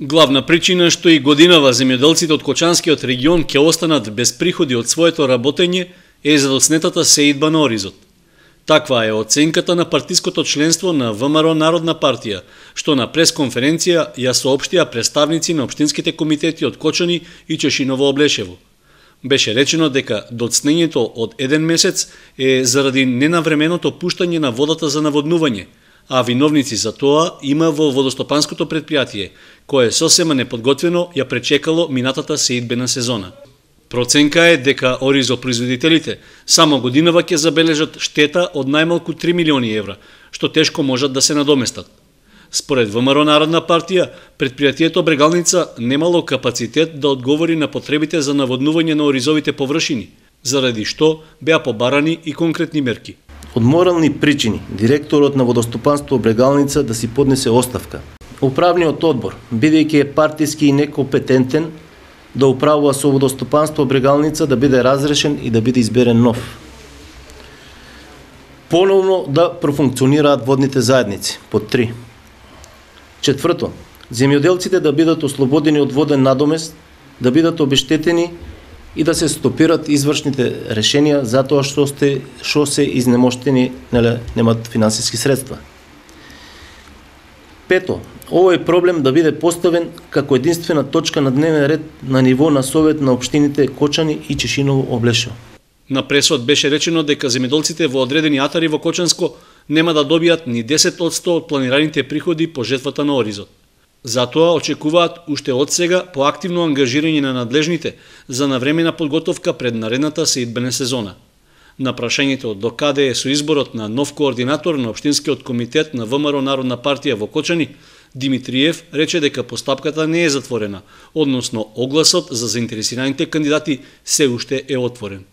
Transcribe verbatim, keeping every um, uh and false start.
Главна причина што и годинава земјоделците од Кочанскиот регион ќе останат без приходи од своето работење е задоцнетата сеидба на оризот. Таква е оценката на партиското членство на ВМРО Народна партија, што на пресконференција ја соопштија представници на општинските комитети од Кочани и Чешиново Облешево. Беше речено дека доцнењето од еден месец е заради ненавременото пуштање на водата за наводнување, а виновници за тоа има во водостопанското предпријатие, кое сосема неподготвено ја пречекало минатата сеидбена сезона. Проценка е дека оризопроизводителите само годинава ќе забележат штета од најмалку три милиони евра, што тешко можат да се надоместат. Според ВМРО Народна партија, предпријатието Брегалница немало капацитет да одговори на потребите за наводнување на оризовите површини, заради што беа побарани и конкретни мерки. Од морални причини, директорот на водостопанство Брегалница да си поднесе оставка. Управниот одбор, бидејќи е партиски и некомпетентен, да управува со водостопанство Брегалница да биде разрешен и да биде изберен нов. Поновно да профункционираат водните заедници, под три. Четврто, земјоделците да бидат ослободени од воден надомест, да бидат обештетени и да се стопират извршните решенија затоа што сте што се изнемоштени, нели, немат финансиски средства. Пето, овој проблем да биде поставен како единствена точка на дневен ред на ниво на Совет на општините Кочани и Чешиново Облешево. На пресот беше речено дека земјоделците во одредени атари во Кочанско нема да добијат ни десет одсто од планираните приходи по жетвата на оризот. Затоа очекуваат уште од сега поактивно ангажирање на надлежните за навремена подготовка пред наредната сеидбена сезона. На прашањето до каде е со изборот на нов координатор на општинскиот комитет на ВМРО Народна партија во Кочани, Димитриев рече дека постапката не е затворена, односно огласот за заинтересираните кандидати се уште е отворен.